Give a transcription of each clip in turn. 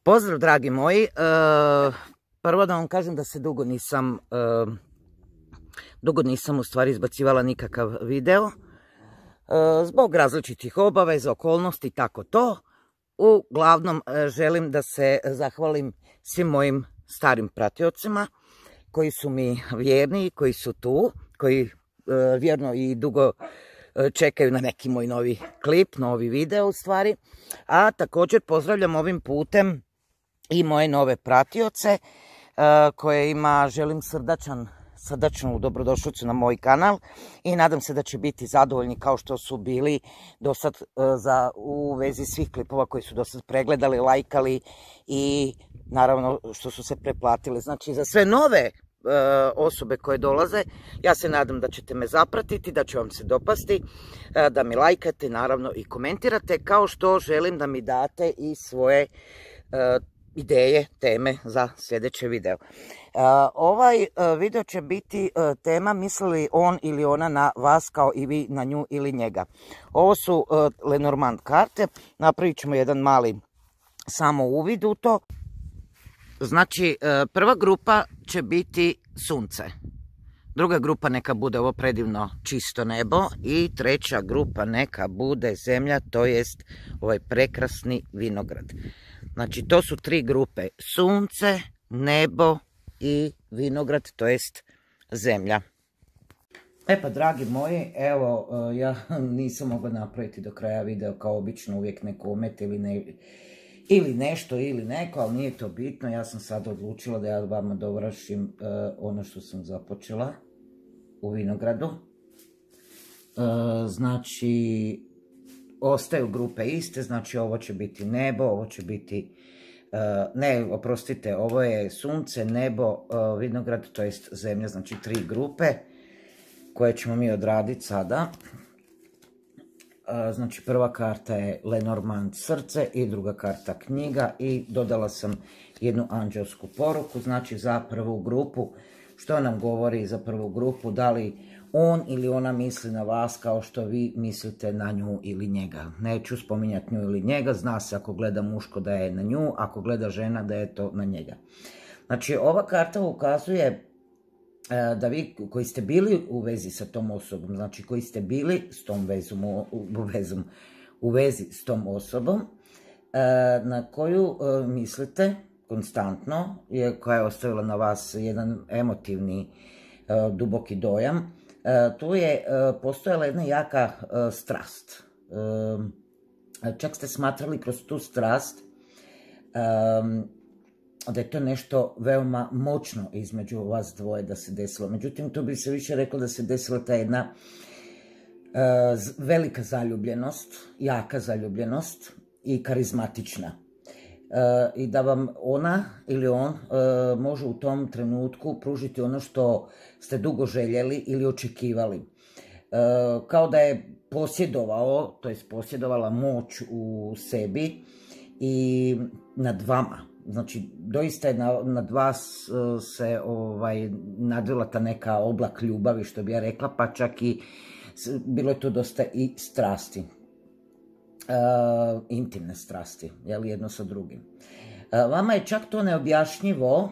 Pozdrav dragi moji, prvo da vam kažem da se dugo nisam u stvari izbacivala nikakav video, zbog različitih obaveza, okolnosti, tako to. Uglavnom želim da se zahvalim svim mojim starim pratiocima koji su mi vjerni, koji su tu, koji vjerno i dugo čekaju na neki moj novi klip, novi video u stvari. A također pozdravljam ovim putem i moje nove pratioce kojima želim srdačnu dobrodošlicu na moj kanal i nadam se da će biti zadovoljni kao što su bili do sad u vezi svih klipova koji su do sad pregledali, lajkali i naravno što su se preplatili. Znači za sve nove osobe koje dolaze, ja se nadam da ćete me zapratiti, da će vam se dopasti, da mi lajkate naravno i komentirate, kao što želim da mi date i svoje ideje, teme za sljedeće video. Ovaj video će biti tema misli li on ili ona na vas kao i vi na nju ili njega. Ovo su Lenormand karte, napravit ćemo jedan mali samo uvid u to. Znači, prva grupa će biti sunce, druga grupa neka bude ovo predivno čisto nebo i treća grupa neka bude zemlja, to jest ovaj prekrasni vinograd. Znači, to su tri grupe, sunce, nebo i vinograd, to jest zemlja. E pa, dragi moji, evo, ja nisam mogla napraviti do kraja video kao obično, uvijek neko omet ili nešto ili neko, ali nije to bitno. Ja sam sad odlučila da ja vama dovršim ono što sam započela u vinogradu. Znači, ostaju grupe iste, znači ovo će biti nebo, ovo će biti, ne, oprostite, ovo je sunce, nebo, vinograd, to jest zemlja, znači tri grupe koje ćemo mi odraditi sada. Znači prva karta je Lenormand srce i druga karta knjiga i dodala sam jednu anđelsku poruku, znači za prvu grupu. Što nam govori za prvu grupu, da li on ili ona misli na vas kao što vi mislite na nju ili njega. Neću spominjati nju ili njega, zna se ako gleda muško da je na nju, ako gleda žena da je to na njega. Znači ova karta ukazuje da vi koji ste bili u vezi sa tom osobom, znači koji ste bili s tom u vezi s tom osobom, na koju mislite konstantno, koja je ostavila na vas jedan emotivni, duboki dojam, tu je postojala jedna jaka strast. Čak ste smatrali kroz tu strast da je to nešto veoma moćno između vas dvoje da se desilo. Međutim, tu bi se više reklo da se desila ta jedna velika zaljubljenost, jaka zaljubljenost i karizmatična. I da vam ona ili on može u tom trenutku pružiti ono što ste dugo željeli ili očekivali. Kao da je posjedovao, to jest posjedovala moć u sebi i nad vama. Znači, doista je nad vas se nadvila ta neka oblak ljubavi, što bi ja rekla, pa čak i bilo je tu dosta i strasti. Intimne strasti, jel, jedno sa drugim. Vama je čak to neobjašnjivo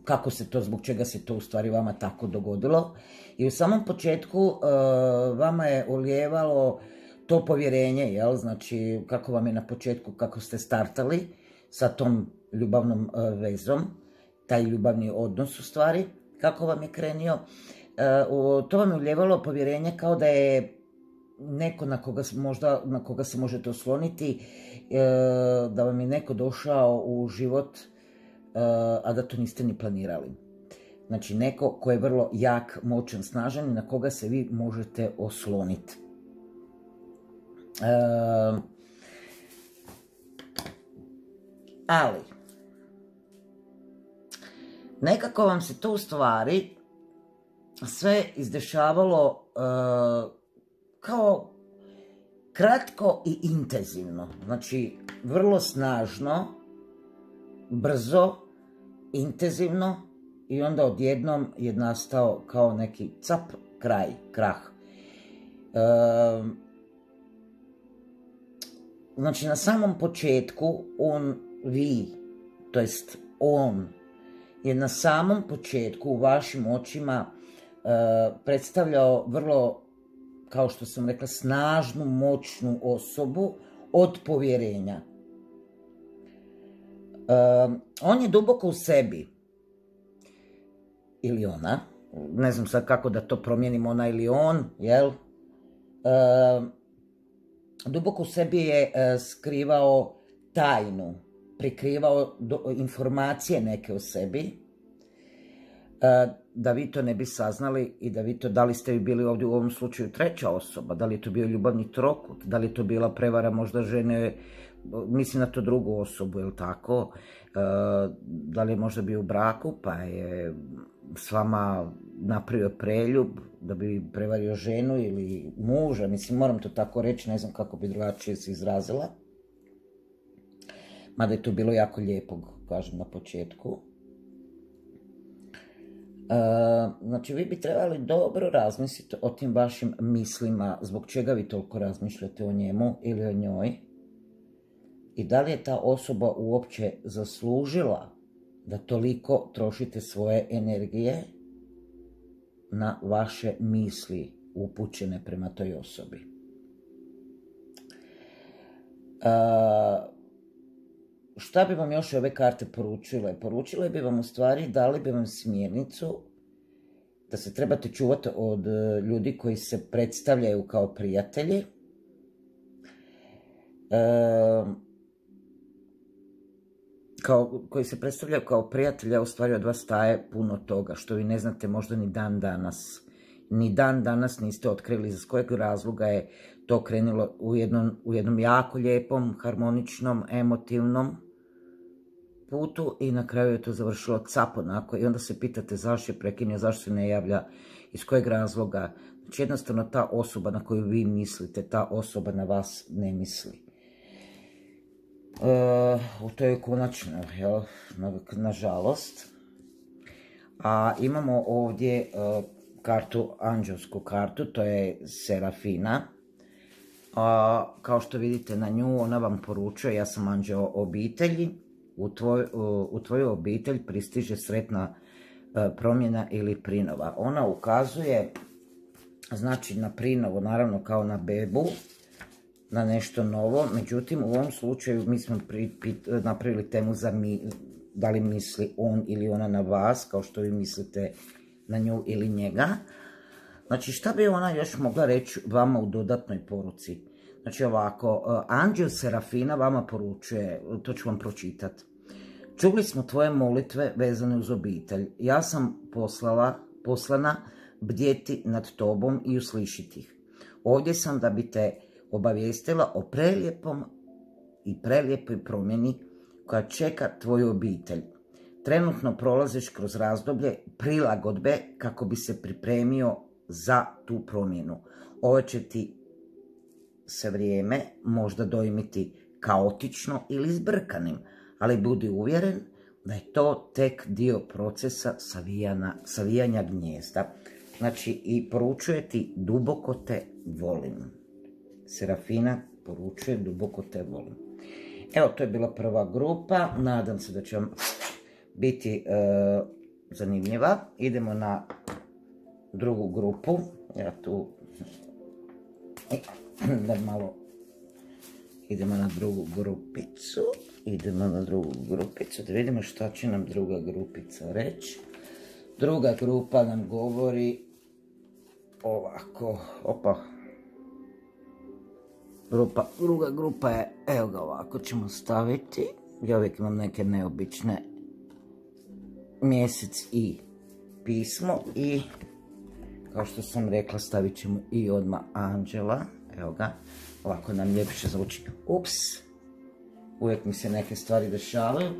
kako se to, zbog čega se to u stvari vama tako dogodilo. I u samom početku vama je ulijevalo to povjerenje, jel, znači kako vam je na početku, kako ste startali sa tom ljubavnom vezom, taj ljubavni odnos u stvari, kako vam je krenio, to vam je ulijevalo povjerenje kao da je neko na koga se možete osloniti, da vam je neko došao u život, a da to niste ni planirali. Znači neko ko je vrlo jak, moćan, snažan i na koga se vi možete osloniti. Ali nekako vam se to u stvari sve izdešavalo kao kratko i intenzivno, znači vrlo snažno, brzo, intenzivno i onda odjednom je nastao kao neki cap, kraj, krah. znači na samom početku on je na samom početku u vašim očima predstavljao vrlo, kao što sam rekla, snažnu, moćnu osobu od povjerenja. On je duboko u sebi, ili ona, ne znam sad kako da to promijenim, ona ili on, jel? Duboko u sebi je skrivao tajnu, prikrivao informacije neke o sebi, da vi to ne bi saznali i da vi to, da li ste vi bili ovdje u ovom slučaju treća osoba, da li je to bio ljubavni trokut, da li je to bila prevara možda žene, mislim na to drugu osobu, je li tako, da li je možda bio u braku pa je s vama napravio preljub da bi prevario ženu ili muža, mislim moram to tako reći, ne znam kako bi drugačije se izrazila, mada je to bilo jako lijepo, kažem na početku. Znači vi bi trebali dobro razmisliti o tim vašim mislima, zbog čega vi toliko razmišljate o njemu ili o njoj i da li je ta osoba uopće zaslužila da toliko trošite svoje energije na vaše misli upućene prema toj osobi. Šta bi vam još ove karte poručile? Poručile bi vam u stvari, dali bi vam smjernicu da se trebate čuvati od ljudi koji se predstavljaju kao prijatelji, koji se predstavljaju kao prijatelji, a u stvari od vas taje puno toga, što vi ne znate možda ni dan danas. Ni dan danas niste otkrili iz kojeg razloga je to krenulo u jednom jako lijepom, harmoničnom, emotivnom putu i na kraju je to završilo cap onako i onda se pitate zašto je prekinio, zašto se ne javlja, iz kojeg razloga. Znači jednostavno ta osoba na koju vi mislite, ta osoba na vas ne misli. To je konačno, jel, nažalost. A imamo ovdje kartu, anđelsku kartu, to je Serafina. Kao što vidite na nju, ona vam poručuje, ja sam anđeo obitelji, u tvoju obitelj pristiže sretna promjena ili prinova. Ona ukazuje, znači na prinovo, naravno kao na bebu, na nešto novo, međutim u ovom slučaju mi smo napravili temu za da li misli on ili ona na vas, kao što vi mislite na nju ili njega. Znači šta bi ona još mogla reći vama u dodatnoj poruci? Znači ovako, anđel Serafina vama poručuje, to ću vam pročitati. Čuli smo tvoje molitve vezane uz obitelj. Ja sam poslana bdjeti nad tobom i uslišiti ih. Ovdje sam da bi te obavijestila o prelijepoj promjeni koja čeka tvoju obitelj. Trenutno prolaziš kroz razdoblje prilagodbe kako bi se pripremio za tu promjenu. Ovo će ti se vrijeme možda dojmiti kaotično ili zbrkanim, ali budi uvjeren da je to tek dio procesa savijanja gnijezda. Znači i poručuje ti duboko te volim. Serafina poručuje duboko te volim. Evo, to je bila prva grupa. Nadam se da će vam biti zanimljiva. Idemo na drugu grupu. Ja tu da malo idemo na drugu grupicu. Da vidimo šta će nam druga grupica reći. Druga grupa nam govori ovako. Druga grupa je, evo ga ovako ćemo staviti. Ja uvijek imam neke neobične mjesec i pismo i kao što sam rekla stavit ćemo i odmah anđela. Evo ga, ovako nam ljepše zvuči. Ups, uvijek mi se neke stvari dešavaju.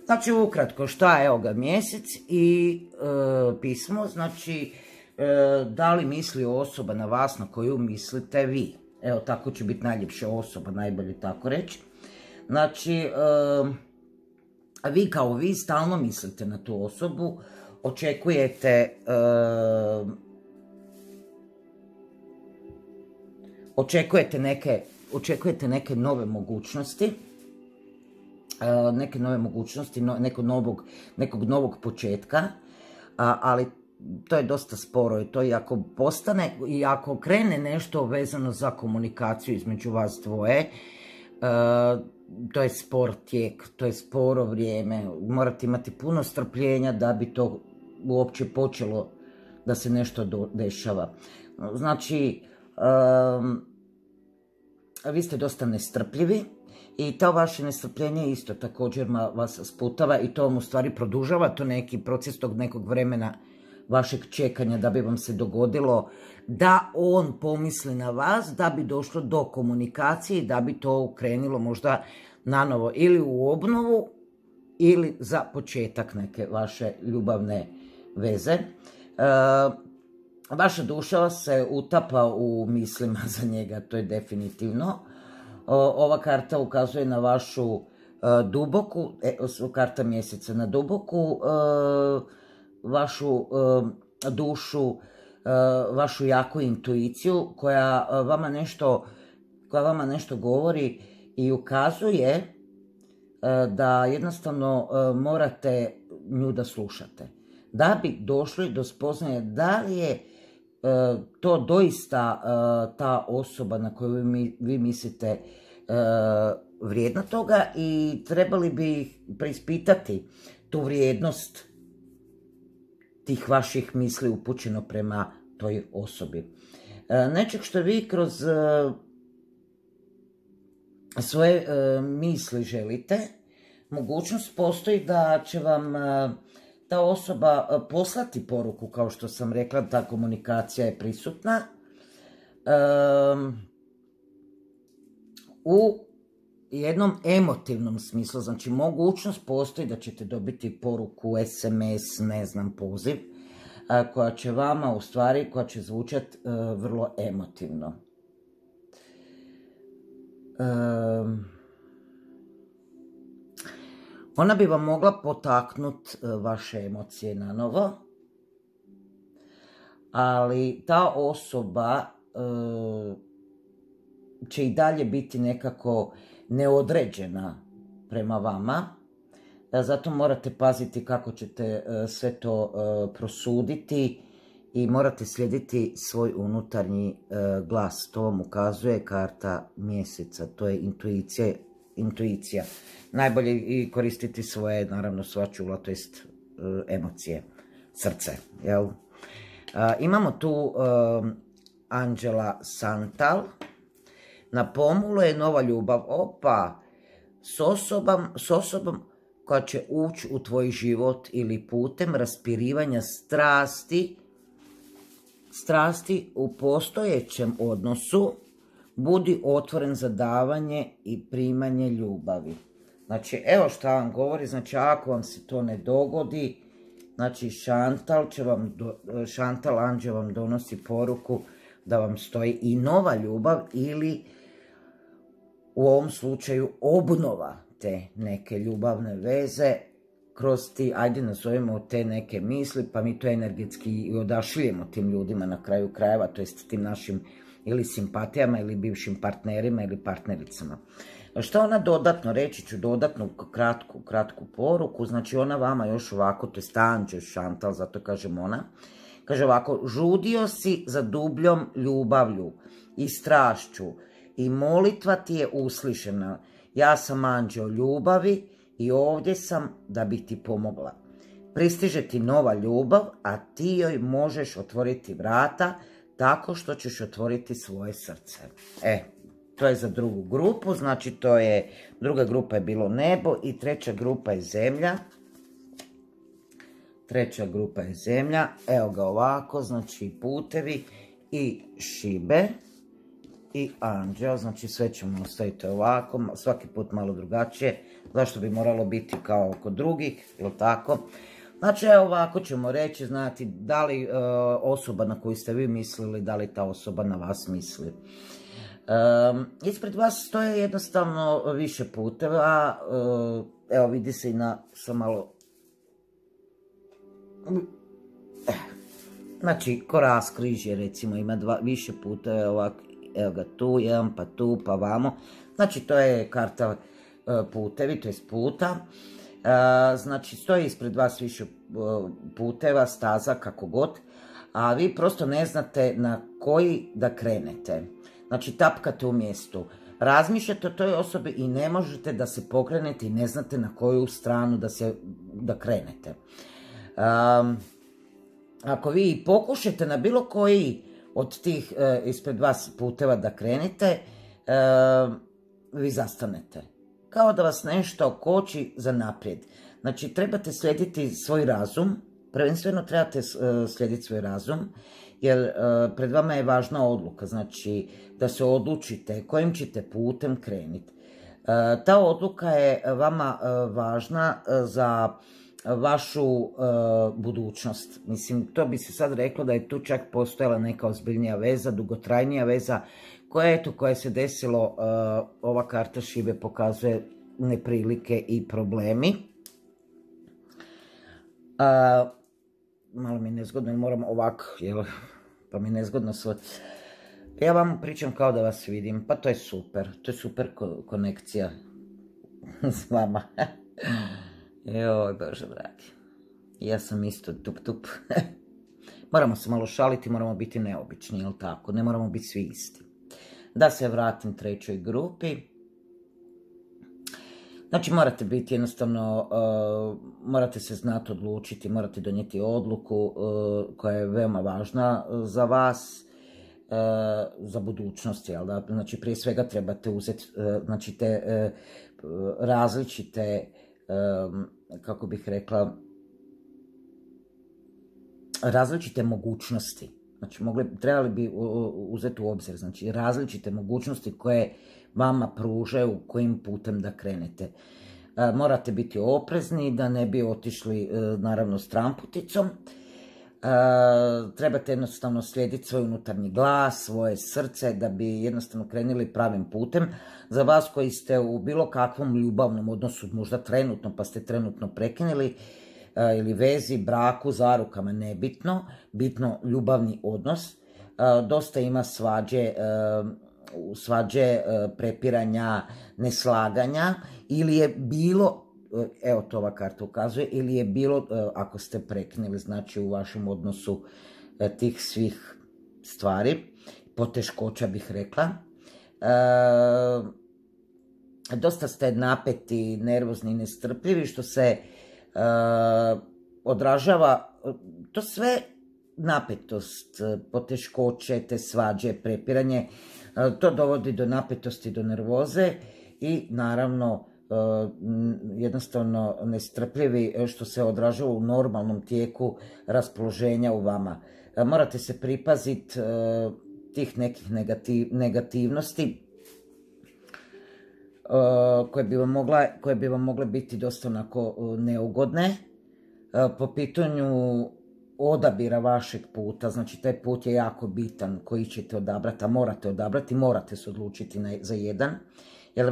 Znači ukratko šta je, evo ga mjesec i pismo, znači da li misli osoba na vas na koju mislite vi. Evo tako će biti najljepša osoba, najbolje tako reći. Znači, vi kao vi stalno mislite na tu osobu, očekujete neke očekujete neke nove mogućnosti, nekog novog početka, ali to je dosta sporo i to i ako postane, i ako krene nešto vezano za komunikaciju između vas dvoje, to je spor tijek, to je sporo vrijeme, morate imati puno strpljenja da bi to uopće počelo da se nešto dešava. Znači, vi ste dosta nestrpljivi i to vaše nestrpljenje isto također vas sputava i to vam u stvari produžava, to neki proces tog nekog vremena vašeg čekanja da bi vam se dogodilo da on pomisli na vas, da bi došlo do komunikacije i da bi to krenilo možda nanovo ili u obnovu ili za početak neke vaše ljubavne veze. Vaša duša se utapa u mislima za njega, to je definitivno. Ova karta ukazuje na vašu duboku, karta mjeseca, na duboku vašu dušu, vašu jaku intuiciju koja vama nešto govori i ukazuje da jednostavno morate nju da slušate. Da bi došli do spoznaje da li je to doista ta osoba na koju vi mislite vrijedna toga i trebali bi preispitati tu vrijednost tih vaših misli upućeno prema toj osobi. Nečeg što vi kroz svoje misli želite, mogućnost postoji da će vam ta osoba poslati poruku, kao što sam rekla, ta komunikacija je prisutna. U jednom emotivnom smislu, znači mogućnost postoji da ćete dobiti poruku, SMS, ne znam, poziv, koja će vama u stvari, koja će zvučati vrlo emotivno. Ona bi vam mogla potaknuti vaše emocije na novo, ali ta osoba će i dalje biti nekako neodređena prema vama. Zato morate paziti kako ćete sve to prosuditi i morate slijediti svoj unutarnji glas. To vam ukazuje karta mjeseca, to je intuicija. Najbolje i koristiti svoje, naravno, sva čula, to jest emocije, srce, jel? Imamo tu anđela Santal. Na pomolu je nova ljubav. Opa, s osobom koja će ući u tvoj život ili putem raspirivanja strasti u postojećem odnosu, budi otvoren za davanje i primanje ljubavi. Znači, evo šta vam govori, znači ako vam se to ne dogodi, znači Šantal anđel vam donosi poruku da vam stoji i nova ljubav ili u ovom slučaju obnova te neke ljubavne veze kroz ti, ajde nazovemo te neke misli, pa mi to energetski i odašiljemo tim ljudima na kraju krajeva, to jest tim našim ili simpatijama ili bivšim partnerima ili partnericama. Što ona dodatno, reći ću dodatnu kratku poruku, znači ona vama još ovako, to je anđel Šantal, zato kažem ona, kaže ovako, žudio si za dubljom ljubavlju i strašću i molitva ti je uslišena. Ja sam anđeo ljubavi i ovdje sam da bi ti pomogla. Pristiže ti nova ljubav, a ti joj možeš otvoriti vrata tako što ćeš otvoriti svoje srce. To je za drugu grupu, znači druga grupa je bilo nebo i treća grupa je zemlja. Evo ga ovako, znači putevi i šibe i anđeo, znači sve ćemo ostaviti ovako, svaki put malo drugačije, zašto bi moralo biti kao kod drugih, ili tako? Znači, evo ovako ćemo reći, znati da li osoba na koju ste vi mislili, da li ta osoba na vas misli. Ispred vas stoje jednostavno više puteva, evo vidi se i sam malo, znači ko raskrižje recimo ima više puteva ovako evo ga tu jedan, pa tu, pa vamo. Znači to je karta putevi, to je puta. Znači stoji ispred vas više puteva, staza, kako god, a vi prosto ne znate na koji da krenete. Znači tapkate u mjestu, razmišljate o toj osobi i ne možete da se pokrenete i ne znate na koju stranu da krenete. Ako vi pokušate na bilo koji od tih ispred vas puteva da krenete, vi zastanete. Kao da vas nešto koči za naprijed. Znači, trebate slijediti svoj razum, prvenstveno trebate slijediti svoj razum, jer pred vama je važna odluka, znači da se odlučite kojim ćete putem krenuti. Ta odluka je vama važna za vašu budućnost. Mislim, to bi se sad reklo da je tu čak postojala neka ozbiljnija veza, dugotrajnija veza, koja se desilo, ova karta šibe pokazuje neprilike i problemi. Malo mi je nezgodno, moram ovako, pa mi je nezgodno sve. Ja vam pričam kao da vas vidim, pa to je super konekcija s vama. Joj, Bože dragi, ja sam isto tup. Moramo se malo šaliti, moramo biti neobični, jel tako? Ne moramo biti svi isti. Da se vratim trećoj grupi. Znači morate biti jednostavno, morate se znati odlučiti, morate donijeti odluku koja je veoma važna za vas, za budućnost, jel da? Znači prije svega trebate uzeti, znači te različite, kako bih rekla, različite mogućnosti. Znači, trebali bi uzeti u obzir, znači, različite mogućnosti koje vama pružaju kojim putem da krenete. Morate biti oprezni da ne bi otišli, naravno, stramputicom. Trebate jednostavno slijediti svoj unutarnji glas, svoje srce, da bi jednostavno krenuli pravim putem. Za vas koji ste u bilo kakvom ljubavnom odnosu, možda trenutno, pa ste trenutno prekinuli, ili vezi, braku, zarukama, nebitno, bitno ljubavni odnos. Dosta ima svađe, prepiranja, neslaganja, ili je bilo, evo to ova karta ukazuje, ili je bilo, ako ste prekinuli, znači u vašem odnosu tih svih stvari, poteškoća bih rekla. Dosta ste napeti, nervozni, nestrpljivi, što se odražava, to sve napetost, poteškoće, te svađe, prepiranje, to dovodi do napetosti, do nervoze i naravno jednostavno nestrpljivi, što se odražava u normalnom tijeku raspoloženja u vama. Morate se pripaziti tih nekih negativnosti koje bi vam mogle biti dosta onako neugodne po pitanju odabira vašeg puta. Znači taj put je jako bitan koji ćete odabrati, a morate odabrati, morate se odlučiti za jedan, jer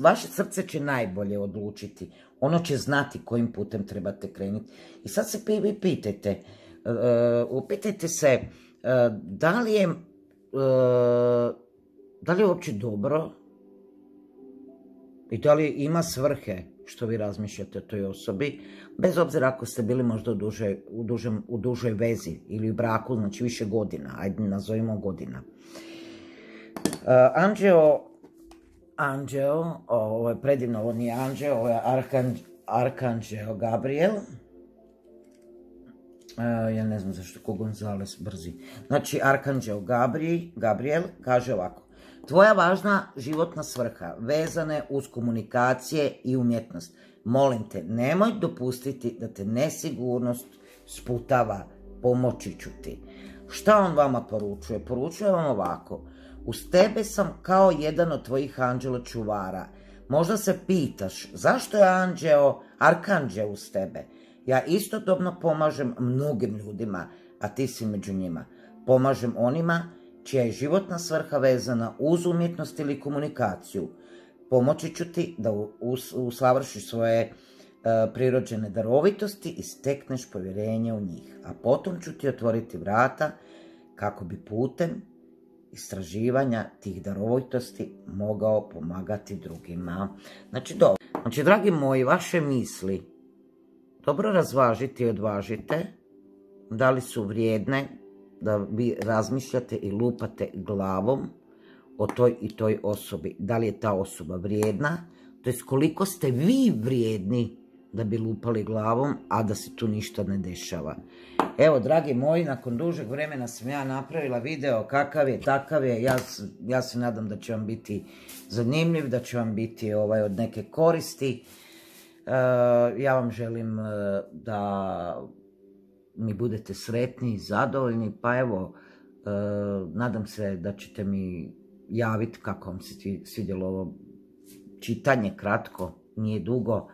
vaše srce će najbolje odlučiti, ono će znati kojim putem trebate krenuti. I sad se vi pitajte, upitajte se da li je uopće dobro i da li ima svrhe što vi razmišljate o toj osobi, bez obzira ako ste bili možda u dužoj vezi ili u braku, znači više godina, ajde nazovimo godina. Anđeo, ovo je predivno, ovo nije anđeo, ovo je arkanđeo Gabriel. Ja ne znam zašto ko Gonzales brzi. Znači, arkanđeo Gabriel kaže ovako: tvoja važna životna svrha vezane uz komunikacije i umjetnost. Molim te, nemoj dopustiti da te nesigurnost sputava, pomoći ću ti. Šta on vama poručuje? Poručuje vam ovako: uz tebe sam kao jedan od tvojih anđela čuvara. Možda se pitaš zašto je arkanđeo uz tebe. Ja istodobno pomažem mnogim ljudima, a ti si među njima. Pomažem onima čija je životna svrha vezana uz umjetnost ili komunikaciju. Pomoći ću ti da usavršiš svoje prirođene darovitosti i stekneš povjerenje u njih. A potom ću ti otvoriti vrata kako bi putem istraživanja tih darovitosti mogao pomagati drugima. Znači, dobro. Znači, dragi moji, vaše misli dobro razvažite i odvažite da li su vrijedne da vi razmišljate i lupate glavom o toj i toj osobi. Da li je ta osoba vrijedna, to je koliko ste vi vrijedni da bi lupali glavom, a da se tu ništa ne dešava. Evo, dragi moji, nakon dužeg vremena sam ja napravila video, kakav je, takav je. Ja se nadam da će vam biti zanimljiv, da će vam biti od neke koristi. Ja vam želim da mi budete sretni i zadovoljni, pa evo, nadam se da ćete mi javiti kako vam se svidjelo ovo čitanje, kratko, nije dugo,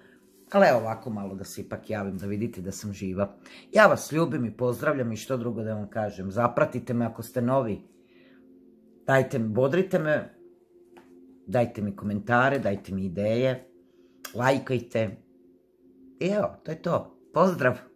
ali evo ovako malo da se ipak javim, da vidite da sam živa. Ja vas ljubim i pozdravljam i što drugo da vam kažem. Zapratite me ako ste novi, bodrite me, dajte mi komentare, dajte mi ideje, lajkajte. I evo, to je to. Pozdrav!